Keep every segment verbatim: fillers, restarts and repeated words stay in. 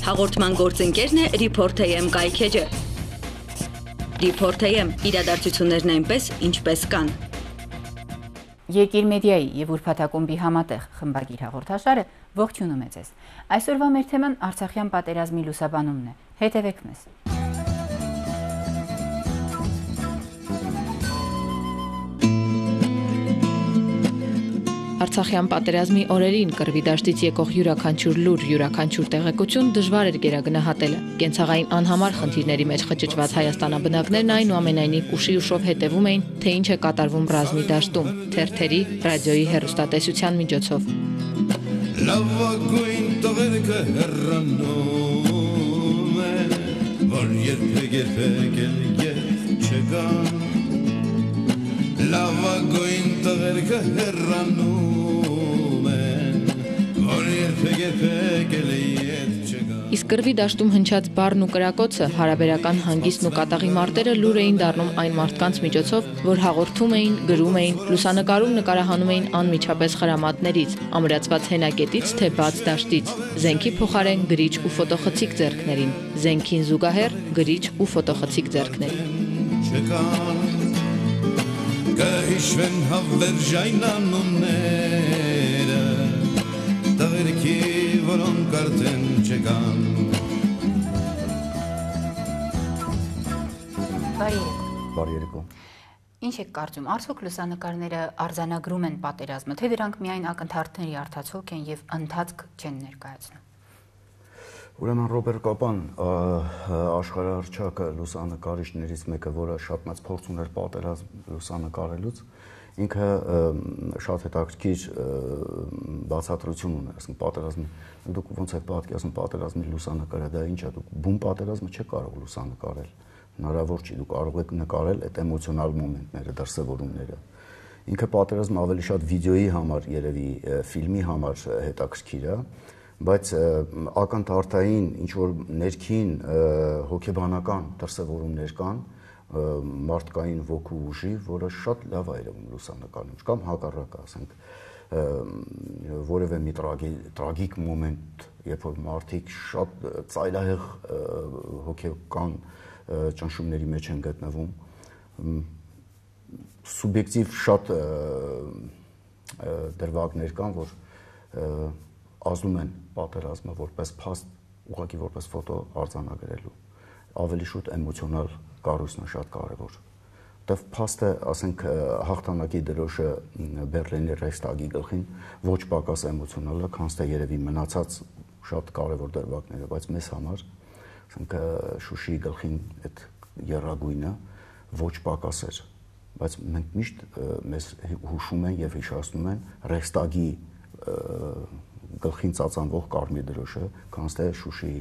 Հաղորդման գործընկերն է Report A M կայքեջը։ Report A M իրադարձություններն այնպես, ինչպես կան։ Եկիր մեդիայի եւ ուրբաթակումբի համատեղ խմբագիր հաղորդաշարը ողջունում է ձեզ։ Այսօրվա մեր թեման Արցախյան պատերազմի լուսաբանումն է։ Հետևեք մեզ։ Արցախյան պատերազմի օրերին կռվի դաշտից եկող յուրաքանչյուր լուր, յուրաքանչյուր տեղեկություն դժվար էր գերագնահատելը։ Կենցաղային անհամար խնդիրների մեջ խճճված հայաստանաբնակներն այնուամենայնիվ ուշի ուշով հետևում էին, թե ինչ է կատարվում ռազմի դաշտում, թերթերի, ռադիոյի հեռուստատեսության միջոցով։ Լավագույն տղերքը հեռանում են, որ երբեք երբեք էլ ետ չգան։ Լավագույն տղերքը հեռանում են, որ երբեք երբեք էլ ետ չգան։ Իսկ կռվի դաշտում հնչած բառն ու կրակոցը, հարաբերական հանգիստն ու կատաղի մարտերը լուր էին դառնում այն մարդկանց միջոցով, որ հաղորդում էին, գրում էին, լուսանկարում նկարահանում էին անմիջապես խրամատներից, ամրացված հենակետից թե բաց դաշտից, զենքի փոխարեն գրիչ ու ֆոտոխցիկ ձեռքներին, զենքին զուգահեռ գրիչ ու ֆոտոխցիկ ձեռքներին։ Կհիշվեն հավերժայն անունները, տղերքի, որոնք արդեն չկան։ Բարի երեկո։ Բարի երեկո։ Ինչ եք կարծում, արդյոք լուսանկարները արձանագրում են պատերազմը, թե դրանք միայն ակնթարթների արդյունք են եւ ընթացք չեն ներկայացնում։ Ուրեմն Ռոբերտ Կապան, աշխարհահռչակ լուսանկարիչներից մեկը, որը շատ մեծ փորձ ուներ պատերազմ լուսանկարելուց, ինքը շատ հետաքրքիր բացատրություն ուներ, ասենք պատերազմի, դուք ոնց եք պատկերացնում պատերազմի լուսանկարը, դա ինչ է, դուք բուն պատերազմը չեք կարող լուսանկարել, հնարավոր չի, դուք կարող եք նկարել այդ էմոցիոնալ մոմենտները, դրսևորումները։ Ինքը պատերազմը ավելի շատ վիդեոյի համար, երևի ֆիլմի համար հետաքրքիր է, բայց ակնթարթային ինչ-որ ներքին հոգեբանական դրսևորումներ կան մարդկային ոգու ուժի, որը շատ լավ է երևում լուսանկարում, կամ հակառակը, ասենք, որևէ մի տրագիկ մոմենտ, երբ որ մարդիկ շատ ծայրահեղ հոգեկան ճնշումների մեջ են գտնվում, սուբյեկտիվ շատ դրվագներ կան, որ ազդում են պատերազմը որպես փաստ, ուղղակի որպես ֆոտո արձանագրելու, ավելի շուտ էմոցիոնալ կառույցն է շատ կարևոր։ Դեռ փաստը, ասենք, հաղթանակի դրոշը Բերլինի Ռեյխստագի գլխին ոչ պակաս էմոցիոնալ է, քան թե երևի մնացած շատ կարևոր դրվագները, բայց մեզ համար, ասենք, Շուշիի գլխին այդ եռագույնը ոչ պակաս էր, բայց մենք միշտ մեզ հուշում են եւ հիշեցնում են Ռեյխստագի գլխին ծածանվող կարմիր դրոշը, քան թե Շուշիի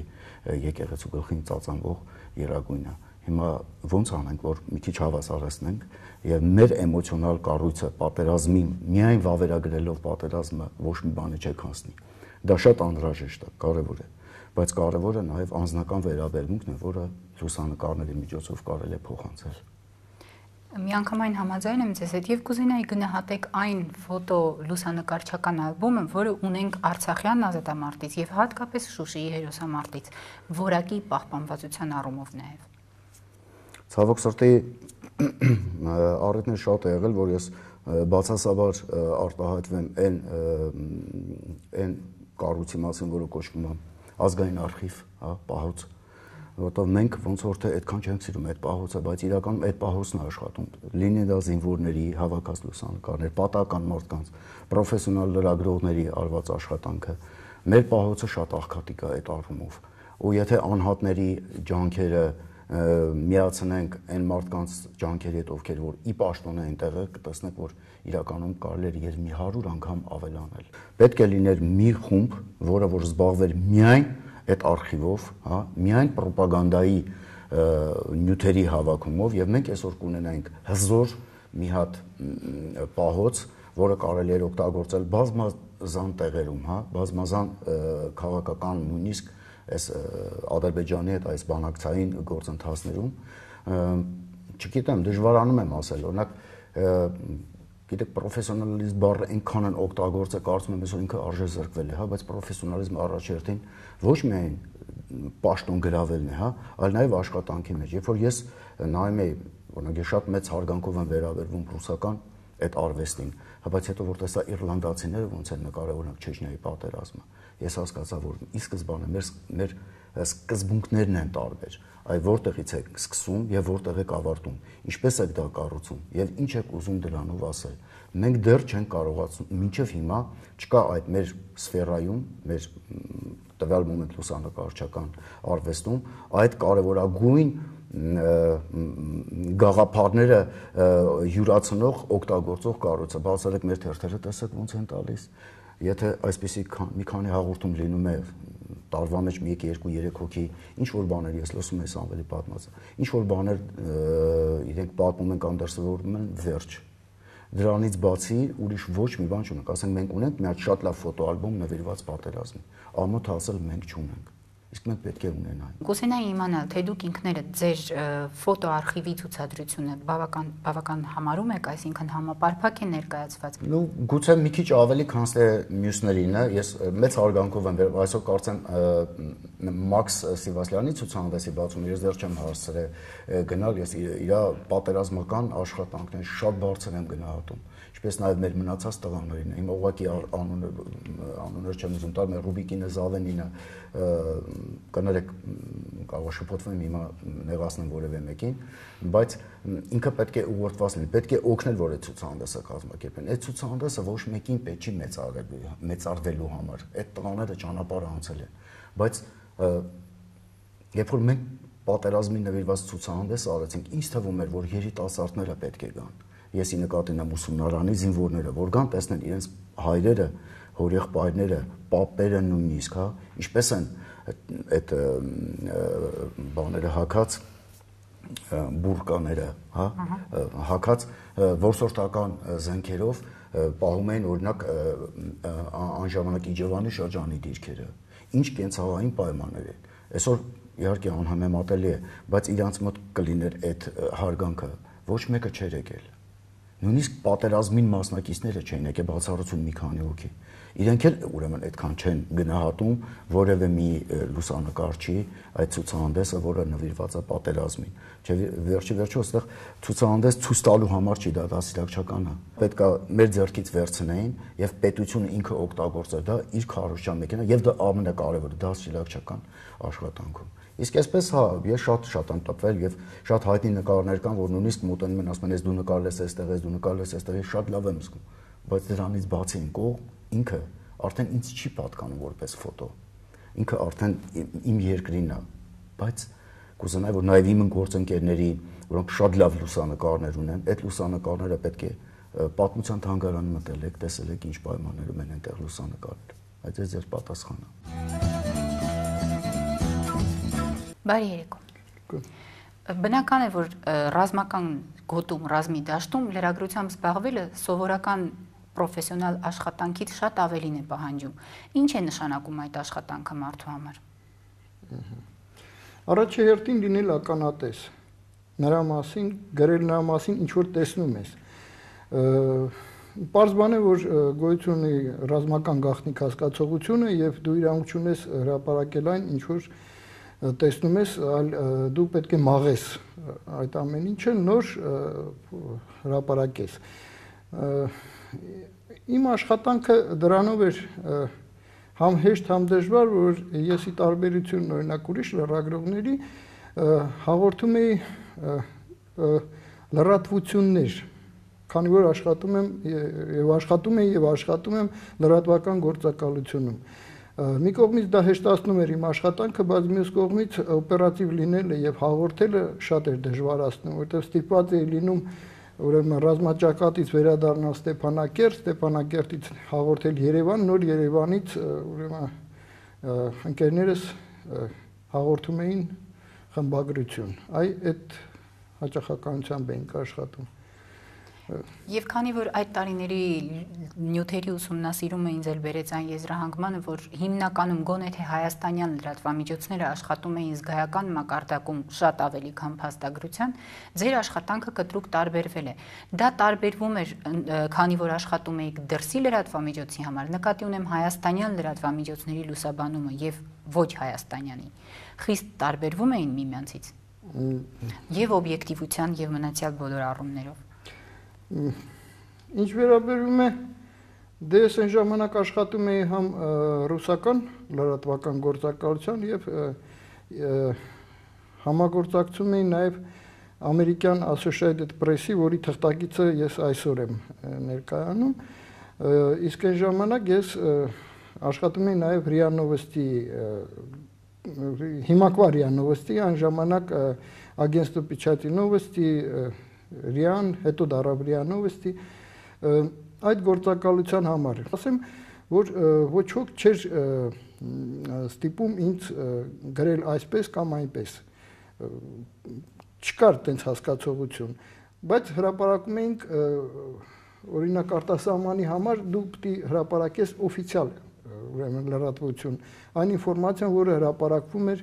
եկեղեցու գլխին ծածանվող եռագույնը։ Հիմա ոնց անենք, որ մի քիչ հավասարեցնենք եւ մեր էմոցիոնալ կառույցը պատերազմի միայն վավերագրելով պատերազմը ոչ մի բանի չեք հասնի։ Դա շատ անհրաժեշտ է, կարեւոր է, բայց կարեւորը նաեւ անձնական վերաբերմունքն է, որը լուսանկարների միջոցով կարելի է փոխանցել։ Միանգամայն համաձայն եմ ձեզ հետ եւ կուզենայի գնահատեք այն ֆոտո լուսանկարչական ալբոմը, որը ունենք Արցախյան ազատամարտից եւ հատկապես Շուշիի հերոսամարտից, որակի պահպանվածության առումով նաեւ։ Ցավոք սրտի առիթներ շատ է եղել, որ ես բացասաբար արտահայտվեմ այն այն կառույցի մասին, որը կոչվում է ազգային արխիվ, հա, պահոց, որտեղ մենք ոնց որ թե այդքան չենք սիրում այդ պահոցը, բայց իրականում այդ պահոցն է աշխատում։ Լինի դա զինվորների հավաքած լուսանկարներ, պատահական մարդկանց, պրոֆեսիոնալ լրագրողների արված աշխատանքը։ Մեր պահոցը շատ աղքատիկ է այդ առումով։ Ու եթե անհատների ջանքերը միացնենք այն մարդկանց ջանքերի հետ, ովքեր որ ի պաշտոն են տեղը, կտեսնենք, որ իրականում կարելի է եւ մի հարյուր անգամ ավելանել։ Պետք է լիներ մի խումբ, որը որ զբաղվեր միայն այդ արխիվով, հա, միայն ռոպագանդայի նյութերի հավաքումով եւ մենք այսօր կունենայինք հզոր մի հատ պահոց, որը կարելի է օգտագործել բազմազան տեղերում, հա, բազմազան քաղաքական նույնիսկ այս Ադրբեջանի հետ այս բանակցային գործընթացներում, չգիտեմ, դժվարանում եմ ասել, օրինակ, գիտեք, պրոֆեսիոնալիզմ բառը այնքան են օգտագործել, կարծում եմ, որ ինքը արժե զրկվել է, հա, բայց պրոֆեսիոնալիզմը առաջերտին ոչ միայն պաշտոն գրավելն է, հա, այլ նաև աշխատանքի մեջ։ Երբ որ ես նայում եի, օրինակ ես շատ մեծ հարգանքով եմ վերաբերվում ռուսական այդ արվեստին, հա, բայց հետո որ տեսա իռլանդացիները ոնց են նկարել օրինակ Չեչնիայի պատերազմը, ես հասկացա, որ ի սկզբանե մեր մեր սկզբունքներն են տարբեր, այ որտեղից եք սկսում եւ որտեղ եք ավարտում, ինչպես եք դա կառուցում եւ ինչ եք ուզում դրանով ասել։ Մենք դեռ չենք կարողացնում, մինչև հիմա չկա այդ մեր սֆերայում, մեր տվյալ մոմենտ լուսանկարչական արվեստում այդ կարևորագույն գաղափարները յուրացնող օգտագործող կառույցը։ Բացառեք մեր թերթերը տեսեք ոնց են տալիս։ Եթե այսպեսի մի քանի հաղորդում լինում է տարվա մեջ մի երկու երեք հոգի, ինչ որ բաներ ես լսում եմ Սամվելի պատմածը, ինչ որ բաներ իրենք պատմում են կամ դրսևորում են, վերջ։ Դրանից բացի ուրիշ ոչ մի բան չունենք, ասենք մենք ունենք մի հատ շատ լավ ֆոտոալբոմ նվիրված պատերազմին, ամոթ ասել մենք չունենք, իսկ մենք պետք է ունենանք։ Կուզենայի իմանալ, թե դուք ինքներդ ձեր ֆոտոարխիվի ցուցադրությունը բավական բավական համարում եք, այսինքն համապարփակ է ներկայացված։ Ну, գուցե մի քիչ ավելի, քան թե մյուսներին է, ես մեծ հարգանքով եմ վերաբերվում, այսօր կարծեմ Մաքս Սիվասլյանի ցուցահանդեսի բացումը ես դեռ չեմ հասցրել գնալ, ես իր պատերազմական աշխատանքներն շատ բարձր եմ գնահատում, ինչպես նաև մեր մնացած տղաներին, իմ ուղղակի անուններ չեմ ուզում տալ, մեր Ռուբիկինը, Զավենինը, կներեք, կարող շփոթվեմ հիմա նեղացնեմ որևէ մեկին, բայց ինքը պետք է ուղղորդված լինի, պետք է օգնել, որ այդ ցուցահանդեսը կազմակերպեն։ Այդ ցուցահանդեսը ոչ մեկին պետք չի մեծարվելու համար, այդ տղաները ճանապարհ անցել են, բայց երբ որ մենք պատերազմի նվիրված ցուցահանդես արեցինք, ինձ թվում էր, որ երիտասարդները պետք է գան։ Եսի նկատի ունեմ ուսումնարանի զինվորները, որ գան տեսնեն իրենց հայրերը, հորեղբայրները, պապերը նույնիսկ, հա, ինչպես են այդ բաները հակած բուրկաները, հա, հակած որսորդական զենքերով պահում էին օրինակ անժամանակ Իջևանի շրջանի դիրքերը։ Ինչ կենցաղային պայմաններ են։ Այսօր իհարկե անհամեմատելի է, բայց իրանց մոտ կլիներ այդ հարգանքը, ոչ մեկը չէր եկել։ Նույնիսկ պատերազմին մասնակիցները չէին եկել, բացառություն մի քանի հոգի։ Իրենք էլ ուրեմն այդքան չեն գնահատում որևէ մի լուսանկարչի այդ ցուցահանդեսը, որը նվիրված է պատերազմին։ Չէ, վերջի վերջո այստեղ ցուցահանդես ցույց տալու համար չի, դա դասիլակչական է։ Պետք է մեր ձեռքից վերցնեին եւ պետությունը ինքը օգտագործեր դա իր քարոզչական մեքենա եւ դա ամենակարևորը դասիլակչական աշխատանքում։ Իսկ այսպես հա, ես շատ շատ եմ տպվել եւ շատ հայտնի նկարներ կան, որ նույնիսկ մոտենում են, ասում են, ես դու նկարել ես այստեղ, ես դու նկարել ես այստեղ, ես շատ լավ եմ զգում, բայց դրանից բացի ինքո ինքը արդեն ինձ չի պատկանում որպես ֆոտո։ Ինքը արդեն իմ երկրինն է, բայց կուզենայի, որ նաեւ իմ գործընկերների, որոնք շատ լավ լուսանկարներ ունեն, այդ լուսանկարները պետք է պատմության թանգարան մտել եք, տեսել եք ինչ պայմաններում են այնտեղ լուսանկարել։ Այդ է ձեր պատասխանը։ Բարի երեկո։ Բնական է, որ ռազմական գոտում, ռազմի դաշտում լրագրությամբ զբաղվելը սովորական պրոֆեսիոնալ աշխատանքից շատ ավելին է պահանջում։ Ինչ է նշանակում այդ աշխատանքը մարդու համար։ Առաջերտին լինել ականատես, նրա մասին, գրել նրա մասին ինչ որ տեսնում ես։ Պարզ բան է, որ գոյություն ունի ռազմական գաղտնիք հասկացողությունը եւ դու իրավունք ունես հրապարակել այն, ինչ որ տեսնում ես, այլ դու պետք է մաղես այդ ամեն ինչը նոր հրապարակես։ Իմ աշխատանքը դրանով էր համ հեշտ, համ դժվար, որ ես ի տարբերություն օրինակ ուրիշ լրագրողների հաղորդում էի լրատվություններ, քանի որ աշխատում եմ եւ աշխատում եմ եւ աշխատում եմ լրատվական գործակալությունում։ Մի կողմից դա հեշտացնում էր իմ աշխատանքը, բայց մյուս կողմից օպերատիվ լինելը եւ հաղորդելը շատ էր դժվարացնում, որովհետեւ ստիպված էի լինում ուրեմն ռազմաճակատից վերադառնալ Ստեփանակերտ, Ստեփանակերտից հաղորդել Երևան, նոր Երևանից ուրեմն ընկերներս հաղորդում էին խմբագրություն։ Այ այդ հաճախականությամբ էինք աշխատում։ Եվ քանի որ այդ տարիների նյութերի ուսումնասիրումը ինձ էլ բերեց այն եզրահանգմանը, որ հիմնականում գոնե թե հայաստանյան լրատվամիջոցները աշխատում էին զգայական մակարդակում շատ ավելի քան փաստագրության, ձեր աշխատանքը կտրուկ տարբերվել է։ Դա տարբերվում էր, քանի որ աշխատում էիք դրսի լրատվամիջոցի համար, նկատի ունեմ հայաստանյան լրատվամիջոցների լուսաբանումը եւ ոչ հայաստանյանի։ Խիստ տարբերվում էին միմյանցից։ Եվ օբյեկտիվության եւ մնացյալ բոլոր առումներով։ Ինչ վերաբերում է դե ես այն ժամանակ աշխատում էի համ ռուսական լրատվական գործակալության եւ համագործակցում էի նաեւ ամերիկյան Associated Press-ի, որի թղթակիցը ես այսօր եմ ներկայանում, իսկ այն ժամանակ ես աշխատում էի նաեւ РИА Novosti հիմակվա РИА Novosti, այն ժամանակ Агентство печати Novosti, РИԱ-ն, հետո դառավ РИА Novosti, այդ գործակալության համար։ Ասեմ, որ ոչ ոք չէր ստիպում ինձ գրել այսպես կամ այնպես։ Չկար տենց հասկացողություն, բայց հրապարակում էինք օրինակ արտասահմանի համար դու պիտի հրապարակես օֆիցիալ ուրեմն լրատվություն, այն ինֆորմացիան, որը հրապարակվում էր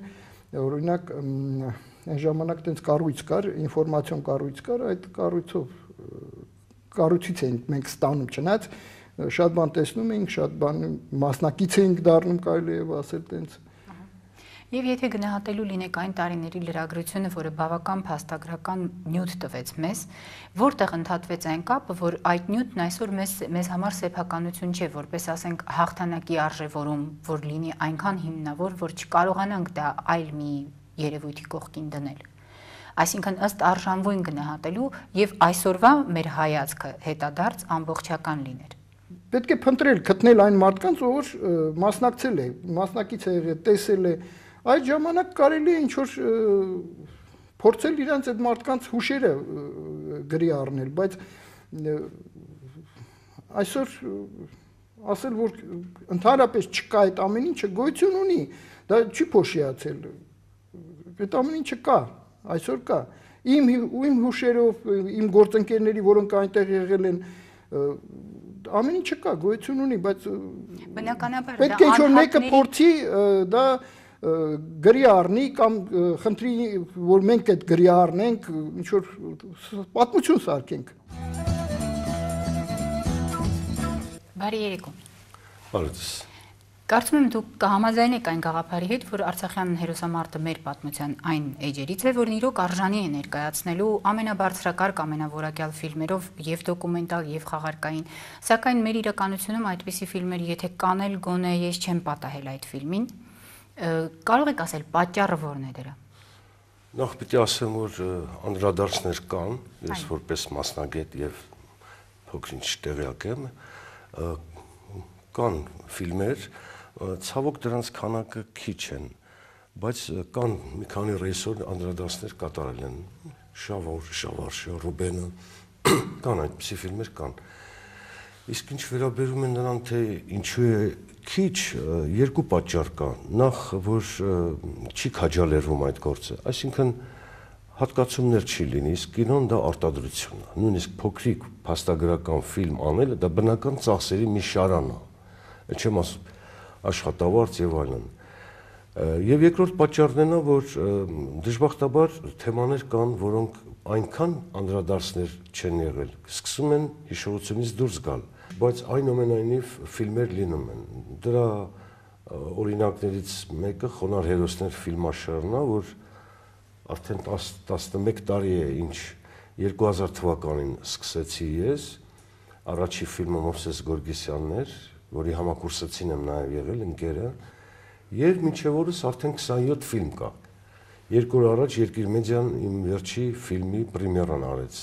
օրինակ այն ժամանակ տենց կառույց կար, ինֆորմացիոն կառույց կար, այդ կառույցով կառույցից էինք մենք ստանում, չնայած շատ բան տեսնում էինք, շատ բան մասնակից էինք դառնում, կարելի է ասել տենց։ Եվ եթե գնահատելու լինեք այն տարիների լրագրությունը, որը բավական փաստագրական նյութ տվեց մեզ, որտեղ ընդհատվեց այն կապը, որ այդ նյութն այսօր մեզ մեզ համար սեփականություն չէ, որպես ասենք հաղթանակի արժևորում, որ լինի այնքան հիմնավոր, որ չկարողանանք դա այլ մի երևույթի կողքին դնել։ Այսինքն ըստ արժանվույն գնահատելու եւ այսօրվա մեր հայացքը հետադարձ ամբողջական լիներ։ Պետք է փնտրել, գտնել այն մարդկանց, ով մասնակցել է, մասնակից է եղել, տեսել է, այդ ժամանակ կարելի է ինչ որ փորձել իրանց այդ մարդկանց հուշերը գրի առնել, բայց այսօր ասել, որ ընդհանրապես չկա այդ ամեն ինչը գոյություն ունի, դա չի փոշիացել։ Այդ ամեն ինչը կա, այսօր կա։ Իմ իմ հուշերով, իմ գործընկերների, որոնք այնտեղ եղել են, ամեն ինչը կա, գոյություն ունի, բայց բնականաբար պետք է ինչ-որ մեկը փորձի դա գրի առնի կամ խնդրի, որ մենք այդ գրի առնենք, ինչ-որ պատմություն սարքենք։ Բարի երեկո։ Բարի։ Կարծում եմ դուք կհամաձայնեք այն գաղափարի հետ, որ Արցախյան հերոսամարտը մեր պատմության այն էջերից է, որն իրոք արժանի է ներկայացնելու ամենաբարձրակարգ, ամենավորակյալ ֆիլմերով եւ դոկումենտալ եւ խաղարկային, սակայն մեր իրականությունում այդպիսի ֆիլմեր, եթե կանել, գոնե ես չեմ պատահել այդ ֆիլմին, կարող եք ասել պատճառը որն է դրա։ Նախ պիտի ասեմ, որ անդրադարձներ կան, ես որպես մասնագետ եւ փոքր-ինչ տեղյակ եմ, կան ֆիլմեր, ցավոք դրանց քանակը քիչ են, բայց կան մի քանի ռեժիսոր անդրադարձներ կատարել են, Շավոր, Շավարշը, Ռուբենը, կան այդպիսի ֆիլմեր կան։ Իսկ ինչ վերաբերում է նրան, թե ինչու է քիչ, երկու պատճառ կա։ Նախ, որ չի քաջալերվում այդ գործը, այսինքն հատկացումներ չի լինի, իսկ կինոն դա արտադրություն է, նույնիսկ փոքրիկ փաստագրական ֆիլմ անելը դա բնական ծախսերի մի շարան է, չեմ ասում աշխատավարձ եւ այլն։ Եվ երկրորդ պատճառն է նա, որ դժբախտաբար թեմաներ կան, որոնք այնքան անդրադարձներ չեն եղել, սկսում են հիշողությունից դուրս գալ, բայց այնուամենայնիվ ֆիլմեր լինում են։ Դրա օրինակներից մեկը Խոնար հերոսներ ֆիլմաշարն է, որ արդեն տասնմեկ տարի է, ինչ երկու հազար թվականին սկսեցի ես, առաջի ֆիլմը Մովսես Գորգեսյանն էր, որի համակուրսեցին եմ նաև եղել ընկերը, եւ մինչեւ օրս արդեն քսանյոթ ֆիլմ կա։ Երկու օր առաջ Երկիր մեդիան իմ վերջի ֆիլմի պրեմիերան արեց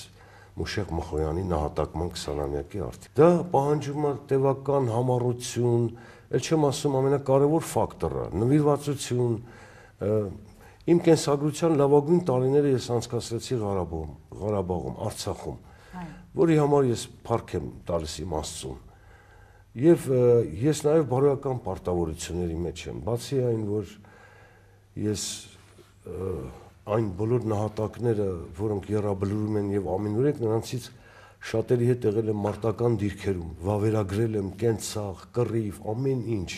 Մուշեղ Մխոյանի նահատակման քսանամյակի արդիվ։ Դա պահանջում է տևական համառություն, ել չեմ ասում ամենակարևոր ֆակտորը, նվիրվածություն։ Իմ կենսագրության լավագույն տարիները ես անցկացրեցի Ղարաբաղում, Ղարաբաղում, Արցախում, որի համար ես փառք եմ տալիս իմ Աստծուն։ Եվ ես նաև բարոյական պարտավորությունների մեջ եմ, բացի այն, որ ես այն բոլոր նահատակները, որոնք եռաբլուրում են եւ ամենուրեք նրանցից շատերի հետ եղել եմ մարտական դիրքերում, վավերագրել եմ կենցաղ, կռիվ, ամեն ինչ։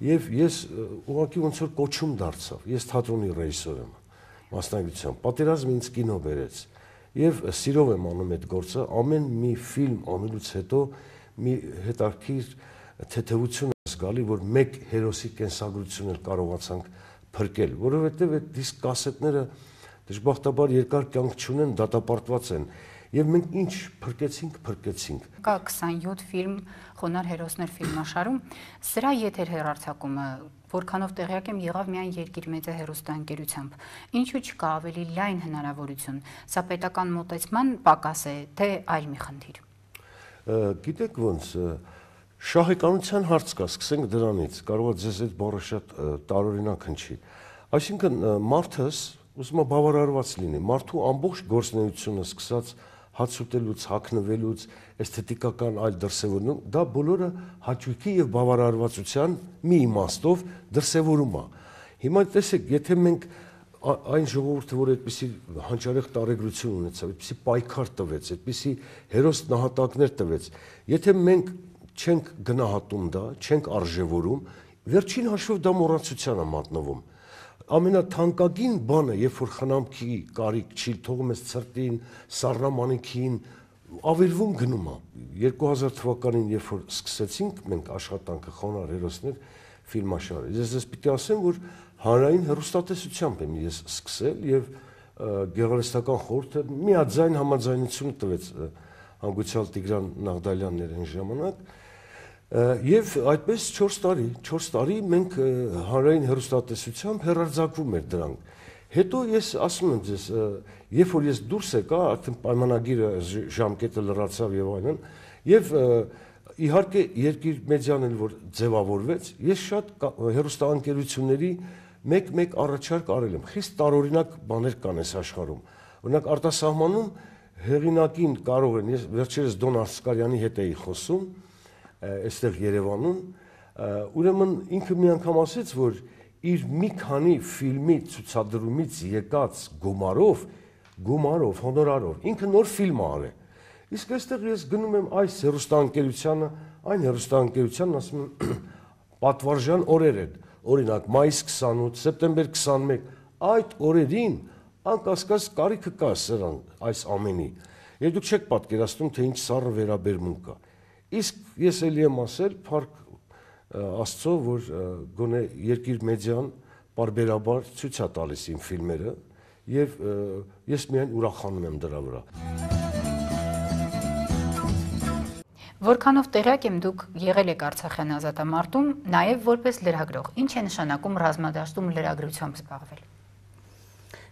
Եվ ես ուղղակի ոնց որ կոչում դարձավ։ Ես թատրոնի ռեժիսոր եմ, մասնագիտությամբ։ Պատերազմը ինձ կինո բերեց։ Եվ սիրով եմ անում այդ գործը, ամեն մի ֆիլմ անելուց հետո մի հետաքրքիր թեթևություն է զգալի, որ մեկ հերոսի կենսագրություն էլ կարողացանք փրկել, որովհետև այդ դիսկ կասետները դժբախտաբար երկար կյանք չունեն, դատապարտված են։ Եվ մենք ինչ փրկեցինք, փրկեցինք։ Կա քսանյոթ ֆիլմ խոնար հերոսներ ֆիլմաշարում, սրա եթեր հեռարձակումը որքանով տեղյակ եմ եղավ միայն Երկիր մեծը հեռուստաընկերությամբ։ Ինչու չկա ավելի լայն հնարավորություն։ Սա պետական մոտեցման պակաս է, թե այլ մի խնդիր։ Գիտեք ոնց, շահեկանության հարց կա, սկսենք դրանից, կարող է ձեզ այդ բառը շատ տարօրինակ հնչի։ Այսինքն մարդս ուզում է բավարարված լինի, մարդու ամբողջ գործունեությունը սկսած հաց ուտելուց, հագնվելուց, էսթետիկական այլ դրսևորում, դա բոլորը հաճույքի եւ բավարարվածության մի իմաստով դրսևորում է։ Հիմա տեսեք, եթե մենք այն ժողովուրդը, որ այդպիսի հանճարեղ տարեգրություն ունեցավ, այդպիսի պայքար տվեց, այդպիսի հերոս նահատակներ տվեց, եթե մենք չենք գնահատում դա, չենք արժևորում, վերջին հաշվով դա մոռացության է մատնվում։ Ամենաթանկագին բանը, երբ որ խնամքի կարիք չի, թողում ես ցրտին, սառնամանիքին, ավերվում գնում է։ երկու հազար թվականին, երբ որ սկսեցինք մենք աշխատանքը խոնար հերոսներ ֆիլմաշարը, ես ես պիտի ասեմ, որ հանրային հեռուստատեսությամբ եմ ես սկսել եւ գեղարվեստական խորհուրդը միաձայն համաձայնություն տվեց հանգուցյալ Տիգրան Նաղդալյաններ այն ժամանակ։ Եվ այդպես չորս տարի, չորս տարի մենք հանրային հեռուստատեսությամբ հեռարձակվում էր դրանք։ Հետո ես ասում եմ ձեզ, երբ որ ես դուրս եկա, արդեն պայմանագիրը ժամկետը լրացավ եւ այլն, եւ իհարկե Երկիր մեդիան էլ որ ձևավորվեց, ես շատ հեռուստաընկերությունների մեկ-մեկ առաջարկ արել եմ։ Խիստ տարօրինակ բաներ կան այս աշխարհում։ Օրինակ արտասահմանում հեղինակին կարող են, ես վերջերս Դոն Ասկարյանի հետ էի խոսում, այստեղ Երևանում, ուրեմն ինքը մի անգամ ասեց, որ իր մի քանի ֆիլմի ցուցադրումից եկած գումարով, գումարով, հոնորարով, ինքը նոր ֆիլմ է արել։ Իսկ այստեղ ես գնում եմ այս հեռուստաընկերությանը, այն հեռուստաընկերությանն ասում եմ պատվարժան օրեր են, օրինակ մայիս քսանութ, սեպտեմբեր քսանմեկ, այդ օրերին անկասկած կարիքը կա սրան այս ամենի։ Եվ դուք չեք պատկերացնում, թե ինչ սառը վերաբերմունք կա։ Իսկ ես էլի եմ ասել, փառք Աստծո, որ գոնե Երկիր մեդիան պարբերաբար ցույց է տալիս իմ ֆիլմերը եւ ես միայն ուրախանում եմ դրա վրա։ Որքանով տեղյակ եմ, դուք եղել եք Արցախյան ազատամարտում, նաեւ որպես լրագրող։ Ինչ է նշանակում ռազմադաշտում լրագրությամբ զբաղվել։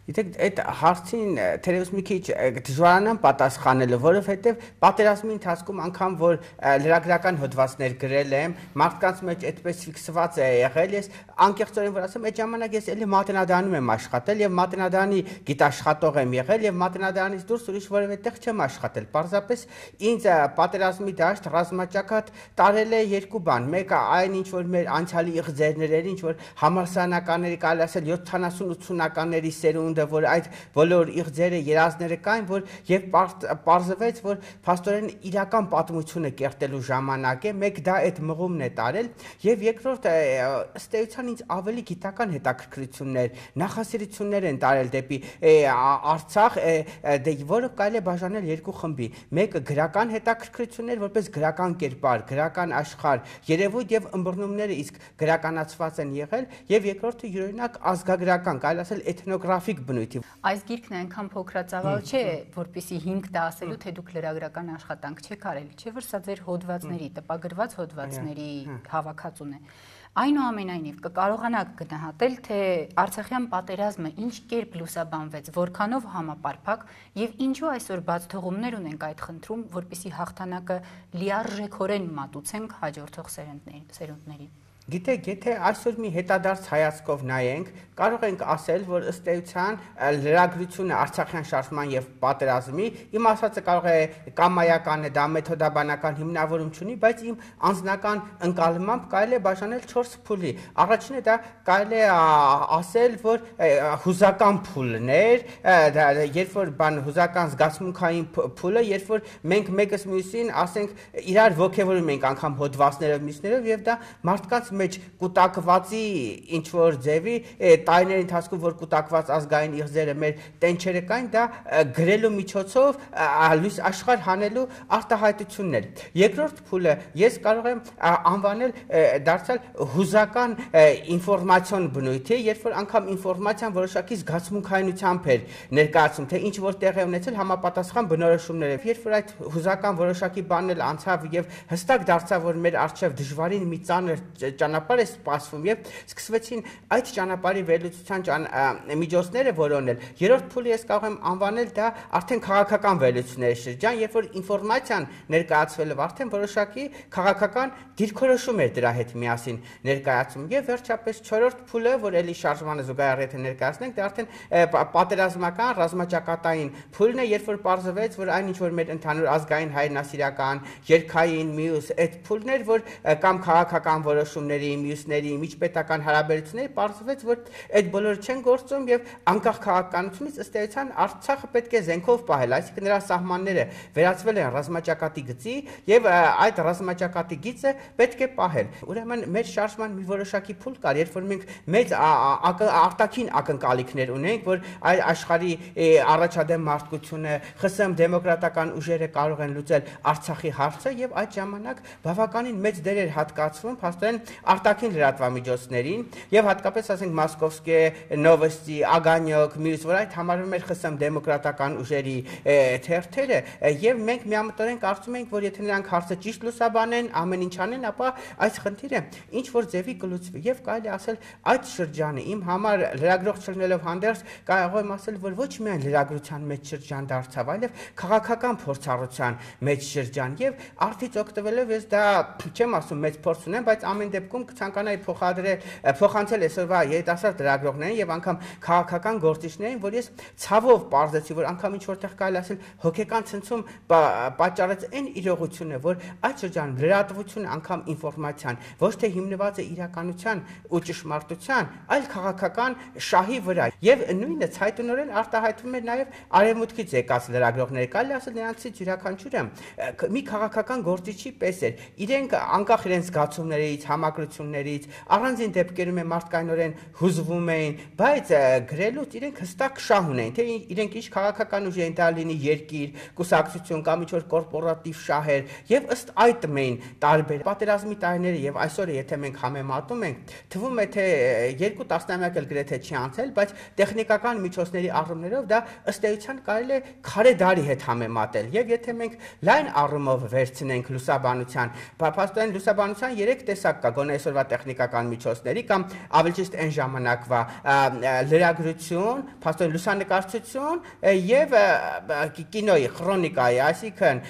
Գիտեք, այդ հարցին թերևս մի քիչ դժվարանամ պատասխանելը, որովհետև պատերազմի ընթացքում անգամ որ լրագրական հոդվածներ գրել եմ, մարդկանց մեջ այդպես ֆիքսված է եղել, ես անկեղծորեն որ ասեմ, այդ ժամանակ ես էլի Մատենադարանում եմ աշխատել եւ Մատենադարանի գիտաշխատող եմ եղել եւ Մատենադարանից դուրս ուրիշ որևէ տեղ չեմ աշխատել։ Պարզապես ինձ պատերազմի դաշտ ռազմաճակատ տարել է երկու բան։ Մեկը այն ինչ որ մեր անցյալի իղձերներ, ինչ որ համալսարանականների կարելի ասել յոթանասուն ութսունականների սերունդ որ այդ բոլոր իղձերը երազները կային, որ եւ պարզվեց, որ փաստորեն իրական պատմությունը կերտելու ժամանակ է, մեկ դա այդ մղումն է տարել, եւ երկրորդ ըստ էության ինձ ավելի գիտական հետաքրքրություններ, նախասիրություններ են տարել դեպի Արցախ, դե որը կարելի է բաժանել երկու խմբի։ Մեկը գրական հետաքրքրություններ, որպես գրական կերպար, գրական աշխարհ, երևույթ եւ ըմբռնումները իսկ գրականացված են եղել, եւ երկրորդը յուրօրինակ ազգագրական, կարելի ասել էթնոգրաֆիկ բնույթի։ Այս գիրքն այնքան փոքրածավալ չէ, որպեսզի հիմք տա ասելու, թե դուք լրագրական աշխատանք չեք արել, չէ՞ որ սա ձեր հոդվածների, տպագրված հոդվածների հավաքածուն է։ Այնուամենայնիվ կկարողանաք գնահատել, թե Արցախյան պատերազմը ինչ կերպ լուսաբանվեց, որքանով համապարփակ եւ ինչու այսօր բաց թողումներ ունենք այդ խնդրում, որպեսզի հաղթանակը լիարժեքորեն մատուցենք հաջորդող սերունդներին։ Գիտեք, եթե այսօր մի հետադարձ հայացքով նայենք, կարող ենք ասել, որ ըստ էության լրագրությունը Արցախյան շարժման եւ պատերազմի, իմ ասածը կարող է կամայական է, դա մեթոդաբանական հիմնավորում չունի, բայց իմ անձնական ընկալմամբ կարելի է բաժանել չորս փուլի։ Առաջինը դա կարելի է ասել, որ հուզական փուլներ, երբ որ բան հուզական զգացմունքային փուլը, երբ որ մենք մեկս մյուսին, ասենք, իրար ոգևորում ենք անգամ հոդվածներով, մյուսներով եւ դա մարդկանց մեջ կուտակվածի ինչ որ ձևի տարիների ընթացքում որ կուտակված ազգային իղձերը մեր տենչերը կային, դա գրելու միջոցով լույս աշխարհ հանելու արտահայտություններ։ Երկրորդ փուլը ես կարող եմ անվանել դարձյալ հուզական ինֆորմացիոն բնույթի, երբ որ անգամ ինֆորմացիան որոշակի զգացմունքայնությամբ էր ներկայացում, թե ինչ որ տեղ է ունեցել համապատասխան բնորոշումներով։ Երբ որ այդ հուզական որոշակի բանն էլ անցավ եւ հստակ դարձավ, որ մեր առջեւ դժվարին մի ծանր ճանապարհ է սպասվում եւ սկսվեցին այդ ճանապարհի վերլուծության միջոցները որոնել։ Երրորդ փուլը ես կարող եմ անվանել դա արդեն քաղաքական վերլուծությունների շրջան, երբ որ ինֆորմացիան ներկայացվելով արդեն որոշակի քաղաքական դիրքորոշում էր դրա հետ միասին ներկայացում։ Եվ վերջապես չորրորդ փուլը, որ էլի շարժմանը զուգահեռ եթե ներկայացնենք, դա արդեն պատերազմական ռազմաճակատային փուլն է, երբ որ պարզվեց, որ այն ինչ որ մեր ընդհանուր ազգային հայրենասիրական, երկհային մյուս այդ փուլներ, որ կամ քաղաքական որոշումների, մյուսների, միջպետական հարաբերությունների պարզվեց, որ այդ բոլորը չեն գործում եւ անկախ քաղաքականությունից ըստ էության Արցախը պետք է զենքով պահել, այսինքն նրա սահմանները վերածվել են ռազմաճակատի գծի եւ այդ ռազմաճակատի գիծը պետք է պահել։ Ուրեմն մեր շարժման մի որոշակի փուլ կար, երբ որ մենք մեծ արտաքին ակնկալիքներ ունենք, որ այ աշխարհի առաջադեմ մարդկությունը, ԽՍՀՄ դեմոկրատական ուժերը կարող են լուծել Արցախի հարցը եւ այդ ժամանակ բավականին մեծ դեր էր հատկացվում փաստորեն արտաքին լրատվամիջոցներին եւ հատկապես ասենք Մոսկովսկի նովոստի, Ագանյոկ, մյուս որ այդ համարվում էր ԽՍՀՄ դեմոկրատական ուժերի թերթերը եւ մենք միամտորեն կարծում ենք, որ եթե նրանք հարցը ճիշտ լուսաբանեն, ամեն ինչ անեն, ապա այս խնդիրը ինչ որ ձևի կլուծվի եւ կարելի ասել այդ շրջանը իմ համար լրագրող չլինելով հանդերձ կարող եմ ասել, որ ոչ միայն լրագրության մեջ շրջան դարձավ, այլև քաղաքական փորձառության մեջ շրջան եւ արդից օգտվելով ես դա չեմ ասում մեծ փորձ ունեմ, բայց ամեն դեպքում կցանկանայի փոխադրել փոխանցել այսօրվա երիտասարդ լրագրողներին եւ անգամ քաղաքական գործիչներին, որ ես ցավով պարզեցի, որ անգամ ինչ որտեղ կարելի ասել հոգեկան ցնցում պատճառեց այն իրողությունը, որ այդ շրջանում լրատվությունը անգամ ինֆորմացիան ոչ թե հիմնված է իրականության ու ճշմարտության, այլ քաղաքական շահի վրա եւ նույնը ցայտունորեն արտահայտվում էր նաեւ արևմուտքից եկած լրագրողները, կարելի ասել նրանցից յուրաքանչյուրը մի քաղաքական գործիչի պես էր, իրենք անկախ իրենց զգացումներից, համակրություններից, առանձին դեպքերում է մարդկայնորեն հուզվում էին, բայց գրելուց իրենք հստակ շահ ունեն, թե իրենք ինչ քաղաքական ուժ են, դա լինի երկիր, կուսակցություն կամ ինչ-որ կորպորատիվ շահեր, եւ ըստ այդ մեն տարբեր պատերազմի տարիները եւ այսօր եթե մենք համեմատում ենք, թվում է թե երկու տասնամյակ էլ գրեթե չի անցել, բայց տեխնիկական միջոցների առումներով դա ըստ էության կարելի է քարե դարի հետ համեմատել, եւ եթե մենք լայն առումով վերցնենք լուսաբանության, փաստորեն լուսաբանության երեք տեսակ կա, գոնե այսօրվա տեխնիկական միջոցների կամ ավելի ճիշտ այն ժամանակվա լրագրություն, փաստորեն լուսանկարչություն եւ կինոյի, քրոնիկայի, այսինքն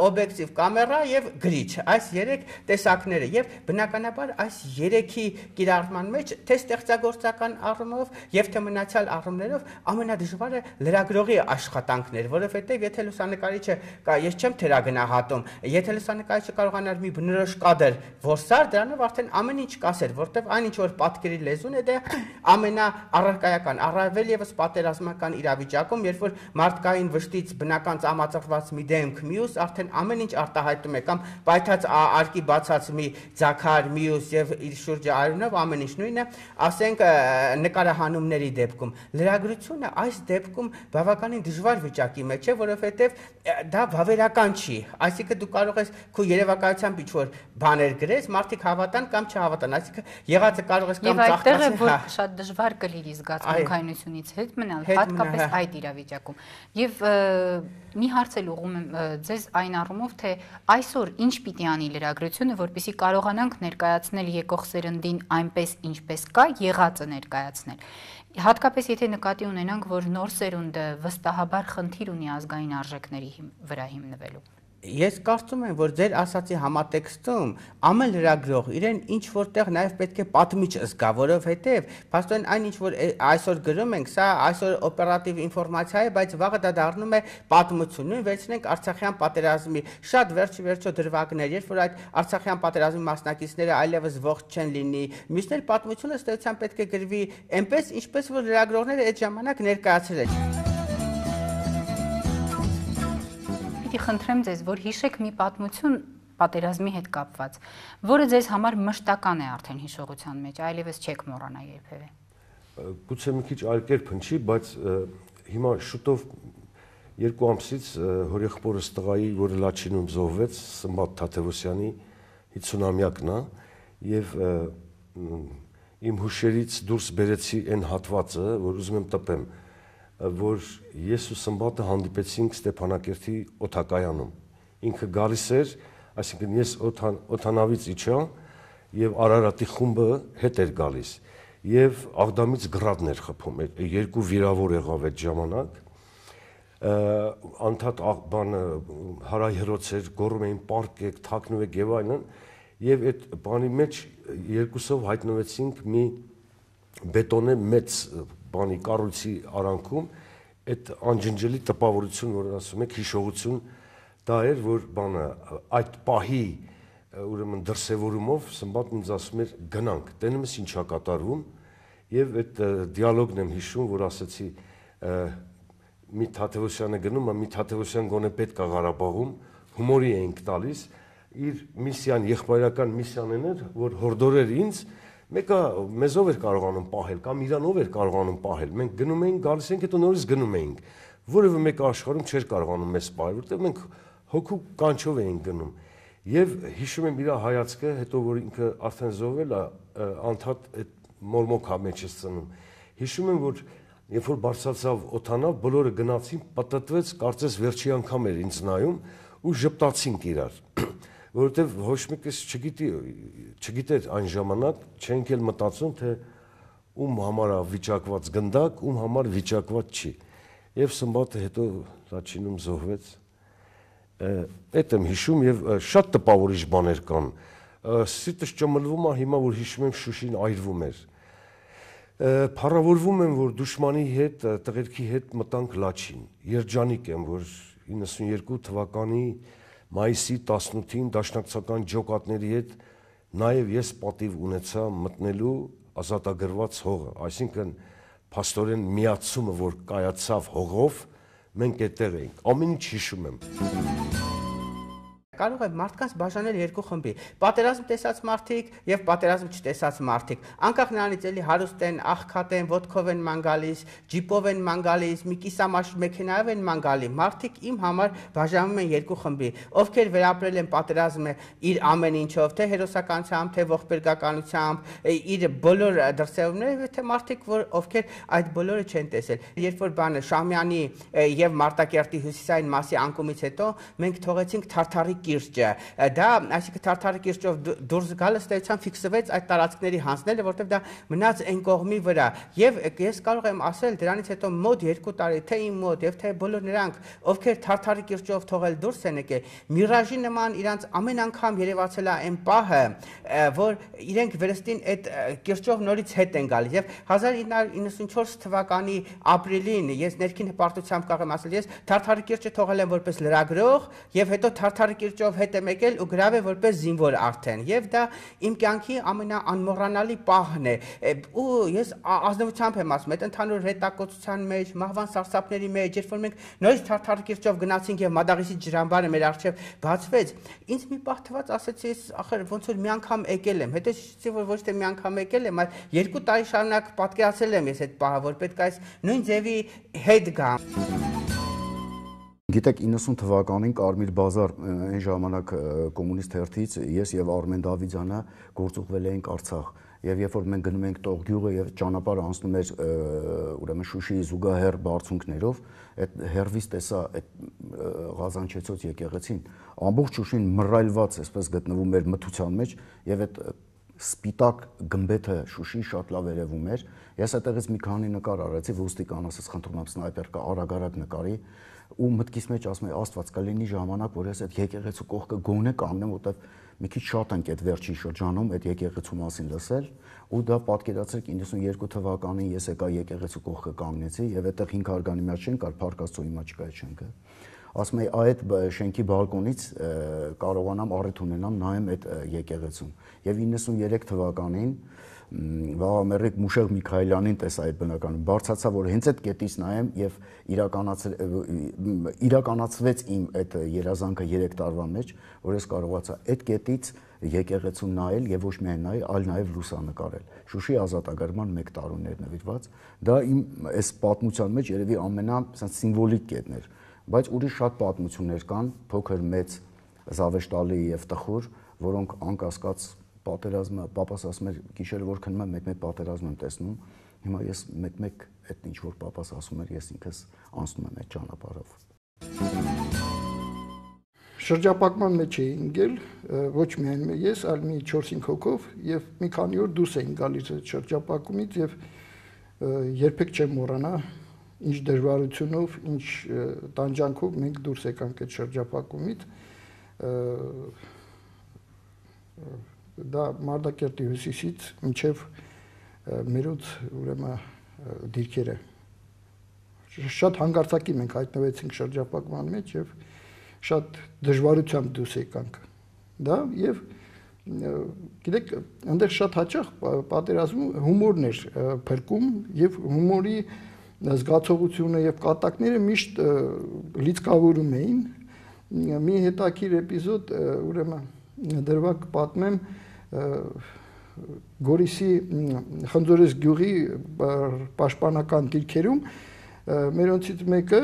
օբյեկտիվ կամերա եւ գրիչ, այս երեք տեսակները եւ բնականաբար այս երեքի կիրառման մեջ թե ստեղծագործական առումով եւ թե մնացյալ առումներով ամենադժվարը լրագրողի աշխատանքն էր, որովհետեւ եթե լուսանկարիչը կա, ես չեմ թերագնահատում, եթե լուսանկարիչը կարողանար մի բնորոշ կադր որսալ, դրանով արդեն ամեն ինչ կասեր, որտեվ այն ինչ որ պատկերի լեզուն է, դա ամենաառարկայական, առավել եւս պատերազմական իրավիճակում, երբ որ մարդկային վշտից բնական ծամածրված մի դեմք մյուս արդեն ամեն ինչ արտահայտում է կամ պայթած արկի բացած մի ձաքար մյուս եւ իր շուրջը արյունով ամեն ինչ նույնը, ասենք նկարահանումների դեպքում լրագրությունը այս դեպքում բավականին դժվար վիճակի մեջ է, որովհետեւ դա բավերական չի, այսինքն դու կարող ես քո երևակայությամբ ինչ որ բաներ գրես, մարդիկ հավատան կամ չհավատան, այսինքն եղածը կարող ես կամ ծաղկացնել, եւ այդտեղ է որ շատ դժվար կլինի զգացմունքայնությունից հետ մնալ, հատկապես այդ իրավիճակում։ Եվ մի հարց էլ ուղղում եմ ձեզ այն առումով, թե այսօր ինչ պիտի անի լրագրությունը, որպեսզի կարողանանք ներկայացնել եկող սերնդին այնպես ինչպես կա, եղածը ներկայացնել։ Հատկապես եթե նկատի ունենանք, որ նոր սերունդը վստահաբար խնդիր ունի ազգային արժեքների վրա հիմնվելու։ Ես կարծում եմ, որ ձեր ասացի համատեքստում ամեն լրագրող իրեն ինչ որտեղ նաև պետք է պատմիչ զգա, որովհետև փաստորեն այն ինչ որ այսօր գրում ենք, սա այսօր օպերատիվ ինֆորմացիա է, բայց վաղը դա դառնում է պատմություն։ Նույն վերցնենք Արցախյան պատերազմի շատ վերջի վերջո դրվագներ, երբ որ այդ Արցախյան պատերազմի մասնակիցները այլևս ողջ չեն լինի, մյուսներ պատմությունը ըստ էության պետք է գրվի այնպես, ինչպես որ լրագրողները այդ ժամանակ ներկայացրել են։ Պիտի խնդրեմ ձեզ, որ հիշեք մի պատմություն պատերազմի հետ կապված, որը ձեզ համար մշտական է արդեն հիշողության մեջ, այլևս չեք մոռանա երբևէ։ Գուցե մի քիչ այլ կերպ հնչի, բայց հիմա շուտով երկու ամսից հորեղբորս տղայի, որը Լաչինում զոհվեց, Սմբատ Թադևոսյանի հինգսունամյակն է, եւ իմ հուշերից դուրս բերեցի այն հատվածը, որ ուզում եմ տպեմ, որ ես ու Սմբատը հանդիպեցինք Ստեփանակերտի օդակայանում։ Ինքը գալիս էր, այսինքն ես օդանավից իջա եւ Արարատի խումբը հետ էր գալիս եւ Աղդամից գրադներ խփում, երկու վիրավոր եղավ այդ ժամանակ։ Անդադ բանը հարայհրոց էր, գոռում էին պարկեք, թաքնվեք եւ այլն, եւ այդ բանի մեջ երկուսով հայտնվեցինք մի բետոնե մեծ բանի կառույցի արանքում, այդ անջնջելի տպավորություն, որ ասում եք, հիշողություն, դա էր, որ բանը այդ պահի ուրեմն դրսևորումով Սմբատն ինձ ասում էր գնանք, տենում ես ինչա կատարվում, եւ այդ դիալոգն եմ հիշում, որ ասացի մի Թադևոսյանը գնում, մի Թադևոսյան գոնե պետք է Ղարաբաղում, հումորի էինք տալիս, իր միսիան, եղբայրական միսիան էր, որ հորդորեր ինձ, մեկը մեզով էր կարողանում պահել, կամ իրանով էր կարողանում պահել, մենք գնում էինք, գալիս էինք, հետո նորից գնում էինք, որևէ մեկը աշխարհում չէր կարողանում մեզ պահել, որտեղ մենք հոգու կանչով էինք գնում։ Եվ հիշում եմ իր հայացքը, հետո որ ինքը արդեն զոհվել է, անդադ այդ մորմոքա մեջ է ծնում։ Հիշում եմ, որ երբ որ բարձրացավ օդանավ, բոլորը գնացին, պատտվեց, կարծես վերջի անգամ էր ինձ նայում ու ժպտացինք իրար, որովհետև ոչ մեկս չգիտի, չգիտեր այն ժամանակ, չենք էլ մտածում, թե ում համար է վիճակված գնդակ, ում համար վիճակված չի։ Եվ Սմբատը հետո Լաչինում զոհվեց։ Այդ եմ հիշում եւ շատ տպավորիչ բաներ կան։ Սիրտս ճմլվում է հիմա, որ հիշում եմ Շուշին այրվում էր։ Փառավորվում եմ, որ դուշմանի հետ, տղերքի հետ մտանք Լաչին։ Երջանիկ եմ, որ իննսունյերկու թվականի մայիսի տասնութին դաշնակցական ջոկատների հետ նաև ես պատիվ ունեցա մտնելու ազատագրված հողը, այսինքն փաստորեն միացումը, որ կայացավ հողով, մենք այդտեղ էինք, ամեն ինչ հիշում եմ։ Կարող է մարդկանց բաժանել երկու խմբի՝ պատերազմ տեսած մարդիկ եւ պատերազմ չտեսած մարդիկ։ Անկախ նրանից էլի հարուստ են, աղքատ են, ոտքով են ման գալիս, ջիպով են ման գալիս, մի կիսամաշ մեքենայով են ման գալի։ Մարդիկ իմ համար բաժանվում են երկու խմբի, ովքեր վերապրել են պատերազմը իր ամեն ինչով, թե հերոսականությամբ, թե ողբերգականությամբ, իր բոլոր դրսևորումներով, թե մարդիկ, որ ովքեր այդ բոլորը չեն տեսել։ Երբ որ բանը Շահմյանի եւ Մարտակերտի հյուսիսային մասի անկումից հետո մենք թողեցինք Թարթարի կիրճը, դա, այսինքն Թարթարի կիրճով դուրս գալը ստեցան ֆիքսվեց այդ տարածքների հանձնելը, որտեղ դա մնաց այն կողմի վրա։ Եվ ես կարող եմ ասել դրանից հետո մոտ երկու տարի, թե իմ մոտ եւ թե բոլոր նրանք, ովքեր Թարթարի կիրճով թողել դուրս են եկել, միրաժի նման իրանց ամեն անգամ երևացել է այն պահը, որ իրենք վերստին այդ կիրճով նորից հետ են գալիս։ Եվ հազար ինը հարյուր իննսունչորս թվականի ապրիլին ես ներքին հպարտությամբ կարող եմ ասել, ես Թարթարի կիրճը թողել եմ որպես լրագրող եւ հետո Թարթարի կիրճով հետ եմ եկել ու գրավել որպես զինվոր արդեն եւ դա իմ կյանքի ամենաանմոռանալի պահն է ու ես ազնվությամբ եմ ասում այդ ընդհանուր հետակոծության մեջ մահվան սարսափների մեջ երբ որ մենք նորից Թարթարի կիրճով գնացինք եւ Մադաղիսի ջրամբարը մեր առջեւ բացվեց ինձ մի պահ թվաց ասեցի ախր ոնց որ մի անգամ եկել եմ հետո շիշտի որ ոչ թե մի անգամ եկել եմ այլ երկու տարի շարունակ պատկերացրել եմ ես այդ պահը որ պետք է այս նույն ձևի հետ գամ Գիտեք իննսուն թվականին Կարմիր բազար այն ժամանակ կոմունիստ հերթից ես եւ Արմեն Դավիթյանը գործուղվել էինք Արցախ եւ երբ որ մենք գնում ենք Տողգյուղը եւ ճանապարհը անցնում էր ուրեմն Շուշիի զուգահեռ բարձունքներով այդ հերվից տեսա այդ Ղազանչեցոց եկեղեցին ամբողջ Շուշին մռայլված այսպես գտնվում էր մթության մեջ եւ այդ սպիտակ գմբեթը Շուշի շատ լավ երևում էր։ Ես այդտեղից մի քանի նկար արեցի, ոստիկան ասաց խնդրում եմ սնայպեր կա արագ-արագ նկարի ու մտքիս մեջ ասում եմ Աստված կլինի ժամանակ, որ ես այդ եկեղեցու կողքը գոնե կանգնեմ, որտեվ մի քիչ շատ ենք այդ վերջին շրջանում այդ եկեղեցու մասին լսել ու դա պատկերացրեք իննսունյոթ թվականին ես եկա եկեղեցու կողքը կանգնեցի եւ այդտեղ հինգ հարգանի մեջ չեն կար Փարքաստու հիմա չկա այդ շենքը։ Ասում եմ այդ շենքի բալկոնից կարողանամ առիթ ունենամ նայեմ այդ եկեղեցուն եւ իննսունյոթ թվականին Վաղամերիկ Մուշեղ Միքայելյանին տեսա այդ բնականում բարձացա որ հենց այդ կետից նայեմ եւ իրականացվեց իմ այդ երազանքը երեք տարվա մեջ որ ես կարողացա այդ կետից եկեղեցուն նայել եւ ոչ միայն նայել այլ նաեւ լուսանկարել Շուշի ազատագրման մեկ տարուներ նվիրված դա իմ այս պատմության մեջ երևի ամենա սիմվոլիկ կետն էր բայց ուրիշ շատ պատմություններ կան փոքր մեծ զավեշտալի եւ տխուր որոնք անկասկած պատերազմը պապաս ասում էր գիշերը որ քնում եմ մեկ-մեկ պատերազմ եմ տեսնում հիմա ես մեկ-մեկ այդ ինչ որ պապաս ասում էր ես ինքս անցնում եմ այդ ճանապարհով շրջապակման մեջ էի ընկել ոչ միայն ես այլ մի չորս-հինգ հոգով եւ մի քանի օր դուրս էին գալիս այդ շրջապակումից եւ երբեք չեմ մոռանա ինչ դժվարությունով ինչ տանջանքով մենք դուրս եկանք այդ շրջապակումից դա Մարտակերտի հյուսիսից մինչև մերոց ուրեմն դիրքերը շատ հանգարցակի մենք հայտնվեցինք շրջապակման մեջ եւ շատ դժվարությամբ դուրս եկանք դա եւ գիտեք այնտեղ շատ հաճախ պատերազմում հումորն էր փրկում եւ հումորի զգացողությունը եւ կատակները միշտ լիցքավորում էին մի հետաքրիր էպիզոդ ուրեմն դրվակ պատմեմ Գորիսի Խնձորես գյուղի պաշտպանական դիրքերում մերոնցից մեկը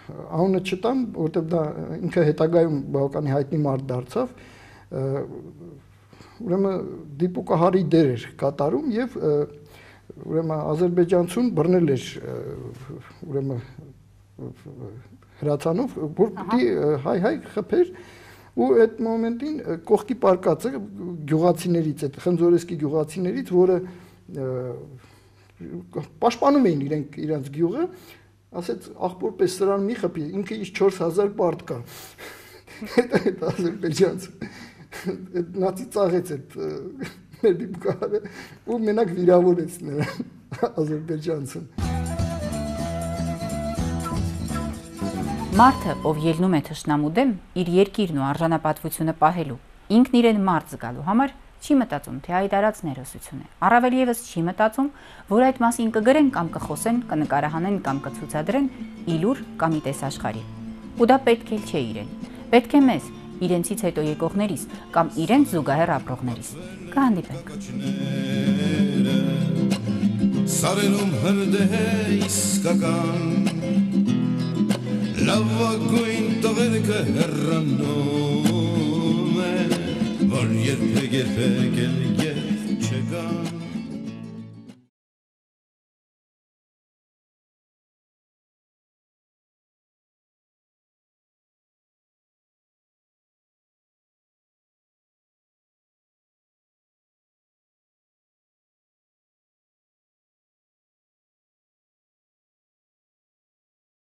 անունը չտամ, որտեղ դա ինքը հետագայում բավականին հայտնի մարդ դարձավ, ուրեմն դիպուկահարի դեր էր կատարում եւ ուրեմն Ադրբեջանցուն բռնել էր ուրեմն հրացանով, որ պիտի հայ-հայ խփեր ու այդ մոմենտին կողքի պարկածը գյուղացիներից, այդ Խնձորեսկի գյուղացիներից, որը պաշտպանում էին իրենք իրենց գյուղը, ասեց աղբորպես սրան մի խփի, ինքը իս չորս հազար պարտ կա։ Այդ Ադրբեջանցը այդ նացի ծաղեց այդ մեր դիպկարը ու մենակ վիրավորեց նրան Ադրբեջանցին։ Մարդը, ով ելնում է թշնամու դեմ, իր երկիրն ու արժանապատվությունը պահելու, ինքն իրեն մարդ զգալու համար չի մտածում, թե այդ արած ներոսություն է։ Առավել եւս չի մտածում, որ այդ մասին կգրեն կամ կխոսեն, կնկարահանեն կամ կցուցադրեն իլուր կամ իտեսաշխարի։ Ու դա պետք էլ չէ իրեն։ Պետք է մեզ, իրենցից հետո եկողներիս կամ իրենց զուգահեռ ապրողներիս։ Կհանդիպենք։ Սարերում հրդեհ իսկական Լավագույն տղերքը հեռանում են, որ երբեք երբեք էլ ետ չգան